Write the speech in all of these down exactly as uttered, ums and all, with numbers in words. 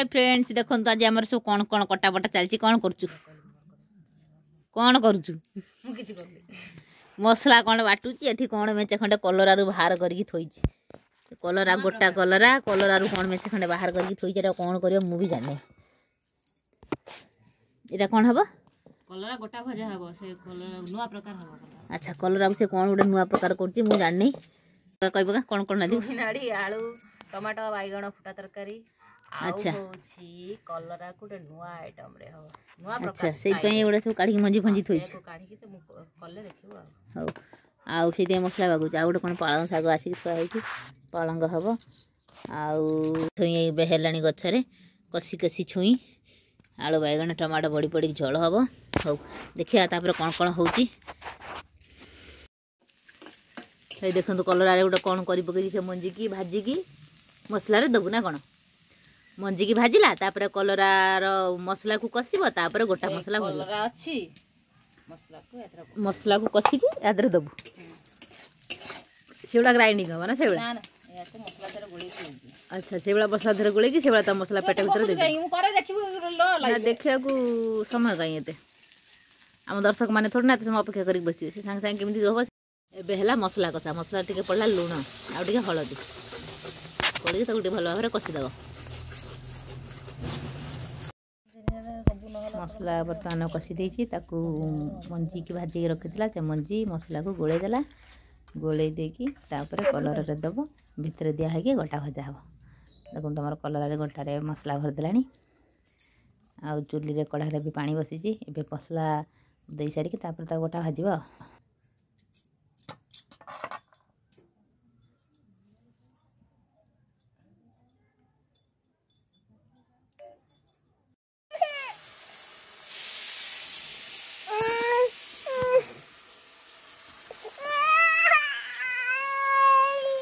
High friends, ଦେଖନ୍ତୁ ଆଜି ଆମର ସବୁ କ'ଣ କ'ଣ କଟାବଟା ଚାଲିଛି। କ'ଣ କରୁଛୁ, କ'ଣ କରୁଛୁ? ମୁଁ କିଛି କରୁନି। ମସଲା କ'ଣ ବାଟୁଛି ଏଠି। କ'ଣ ମେଞ୍ଚେ ଖଣ୍ଡେ କଲରାରୁ ବାହାର କରିକି ଥୋଇଛି। କଲରା, ଗୋଟା କଲରା, କଲରାରୁ କ'ଣ ମେଞ୍ଚେ ଖଣ୍ଡେ ବାହାର କରିକି ଥୋଇଛି। ଏଟା କ'ଣ କରିବ ମୁଁ ବି ଜାଣିନି। ଏଇଟା କ'ଣ ହବ? କଲରା ଗୋଟା ଭଜା ହବ। ସେ କଲରା ନୂଆ ପ୍ରକାର ହବ। ଆଚ୍ଛା, କଲରାକୁ ସେ କ'ଣ ଗୋଟେ ନୂଆ ପ୍ରକାର କରୁଛି, ମୁଁ ଜାଣିନି। କହିବ କ'ଣ କ'ଣ ନାଦିବ? ନାଡ଼ି, ଆଳୁ, ଟମାଟୋ, ବାଇଗଣ ଫୁଟା ତରକାରୀ। ଆଚ୍ଛା। ଆଉ ହଉଛି କଲରାକୁ ଗୋଟେ ନୂଆ ଆଇଟମ ରେ ହବ, ନୂଆ ଆଚ୍ଛା ପ୍ରକାର। ସେଇଥିପାଇଁ ଏଗୁଡ଼ା ସବୁ କାଢ଼ିକି ମଞ୍ଜି ଫଞ୍ଜି ଥୋଇଛି। ସେଇଆକୁ କାଢିକି ତ ମୁଁ କଲେ ଦେଖିବୁ ଆଉ। ହଉ, ଆଉ ସେଇଥିପାଇଁ ମସଲା ବାଗୁଛି। ଆଉ ଗୋଟେ କ'ଣ ପାଳଙ୍ଗ ଶାଗ ଆସିକି ଥୁଆ ହେଇଛି, ପାଳଙ୍ଗ ହବ। ଆଉ ଛୁଇଁ ଏବେ ହେଲାଣି ଗଛରେ, କଷି କଷି ଛୁଇଁ, ଆଳୁ, ବାଇଗଣ, ଟମାଟୋ, ବଡ଼ି ପଡ଼ିକି ଝୋଳ ହବ। ହଉ, ଦେଖିବା ତାପରେ କ'ଣ କ'ଣ ହେଉଛି। ଏଇ ଦେଖନ୍ତୁ, କଲରାରେ ଗୋଟେ କ'ଣ କରି ପକେଇଛି। ସେ ମଞ୍ଜିକି ଭାଜିକି ମସଲାରେ ଦେବୁ ନା କ'ଣ? ମଞ୍ଜିକି ଭାଜିଲା, ତାପରେ କଲରାର ମସଲାକୁ କଷିବ, ତାପରେ ଗୋଟା ମସଲା ଭରିବ। କଲରା ଅଛି, ମସଲାକୁ ଏଥିରେ ମସଲାକୁ କଷିକି ୟା ଦେହରେ ଦେବୁ। ସେଗୁଡ଼ା ଗ୍ରାଇଣ୍ଡିଙ୍ଗ ହବ ନା ସେଗୁଡ଼ା? ନା ନା, ଏହାକୁ ମସଲା ଦେହରେ ଗୋଳେଇକି ହଉଛି। ଆଚ୍ଛା, ସେଗୁଡ଼ା ମସଲା ଦେହରେ ଗୋଳେଇକି ସେଗୁଡ଼ା ତା ମସଲା ପେଟ ଭିତରେ ଦେଇଦେବୁ। ମୁଁ କରେ, ଦେଖିବୁ। ନା, ଦେଖିବାକୁ ସମୟ କାହିଁ ଏତେ? ଆମ ଦର୍ଶକ ମାନେ ଥୋଡ଼ି ନା ଏତେ ସମୟ ଅପେକ୍ଷା କରିକି ବସିବେ। ସେ ସାଙ୍ଗେ ସାଙ୍ଗେ କେମିତି ହବ। ଏବେ ହେଲା ମସଲା କଷା। ମସଲା ଟିକେ ପଡ଼ିଲା, ଲୁଣ ଆଉ ଟିକେ ହଳଦୀ ପଡ଼ିକି ତାକୁ ଟିକେ ଭଲ ଭାବରେ କଷିଦେବ। ମସଲା ବର୍ତ୍ତମାନ କଷି ଦେଇଛି। ତାକୁ ମଞ୍ଜିକି ଭାଜିକି ରଖିଥିଲା, ସେ ମଞ୍ଜି ମସଲାକୁ ଗୋଳେଇ ଦେଲା। ଗୋଳେଇ ଦେଇକି ତାପରେ କଲରାରେ ଦେବ, ଭିତରେ ଦିଆ ହେଇକି ଗୋଟା ଭଜା ହେବ। ଦେଖନ୍ତୁ, ଆମର କଲରାରେ ଗୋଟାରେ ମସଲା ଭରିଦେଲାଣି। ଆଉ ଚୁଲିରେ କଢ଼ାରେ ବି ପାଣି ବସିଛି। ଏବେ ମସଲା ଦେଇସାରିକି ତାପରେ ତାକୁ ଗୋଟା ଭାଜିବ ଆଉ।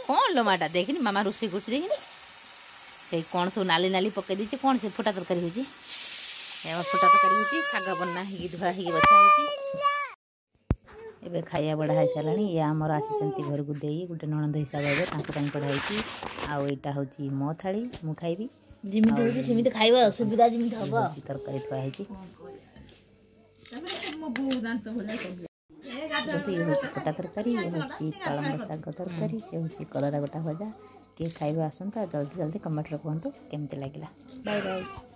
କ'ଣ ଲୋ ମାଟା, ଦେଖିନି ମାମା ରୋଷେଇ କରୁଛି, ଦେଖିନି? ସେଇ କ'ଣ ସବୁ ନାଲି ନାଲି ପକେଇ ଦେଇଛି। କ'ଣ ସେ ଫୁଟା ତରକାରୀ ହେଉଛି? ଏ ଫୁଟା ତରକାରୀ ହେଉଛି। ଶାଗ ବନା ହେଇକି, ଧୁଆ ହେଇକି ବଛା ହେଇଛି। ଏବେ ଖାଇବା ବଢ଼ା ହେଇସାରିଲାଣି। ଇଏ ଆମର ଆସିଛନ୍ତି ଘରକୁ ଦେଇ, ଗୋଟେ ନଣନ୍ଦ ହିସାବ ହେବେ, ତାଙ୍କ ପାଇଁ ବଢ଼ା ହେଇଛି। ଆଉ ଏଇଟା ହେଉଛି ମୋ ଥାଳି, ମୁଁ ଖାଇବି। ଯେମିତି ହେଉଛି ସେମିତି ଖାଇବା, ଅସୁବିଧା ଯେମିତି ହବ। ତରକାରୀ ଥୁଆ ହେଇଛି। ଇଏ ହେଉଛି ଫୁଟା ତରକାରୀ, ଇଏ ହେଉଛି ପାଳଙ୍ଗ ଶାଗ ତରକାରୀ, ସେ ହେଉଛି କଲରା ଗୋଟା ଭଜା। କିଏ ଖାଇବେ ଆସନ୍ତୁ, ଆଉ ଜଲ୍ଦି ଜଲ୍ଦି କମେଣ୍ଟରେ କୁହନ୍ତୁ କେମିତି ଲାଗିଲା। Bye bye.